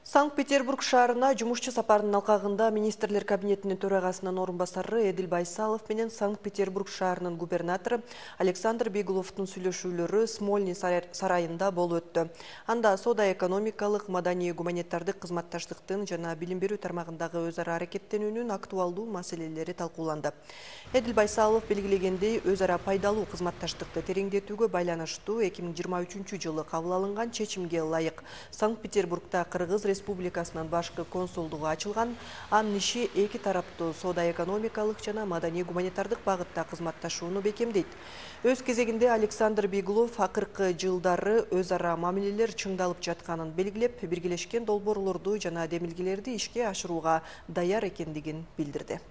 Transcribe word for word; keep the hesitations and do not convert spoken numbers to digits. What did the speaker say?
Санкт-Петербург шаарына жумушчу сапарынын алкагында министрлер кабинетинин төрагасынын орун басары Эдил Байсалов менен Санкт-Петербург шаарынын губернатору Александр Бегловдун сүйлөшүүлөрү Смольный сарайында болуп өттү. Анда соода-экономикалык, маданий-гуманитардык кызматташтыктын жана билим берүү тармагындагы өз ара аракеттенүүнүн актуалдуу маселелери талкууланды. Эдил Байсалов белгилегендей, өз ара пайдалуу кызматташтыкты тереңдетүүгө байланыштуу эки миң жыйырма үчүнчү жылы кабыл алынган чечимге ылайык Санкт-Петербургда Кыргыз Республикасынын башкы консулдугу ачылган. Анын иши эки тараптуу соода-экономикалык жана маданий-гуманитардык багытта кызматташууну бекемдейт. Өз кезегинде Александр Беглов акыркы жылдары өз ара мамилелер чыңдалып жатканын белгилеп, биргелешкен долбоорлорду жана демилгелерди ишке ашырууга даяр экендигин билдирди.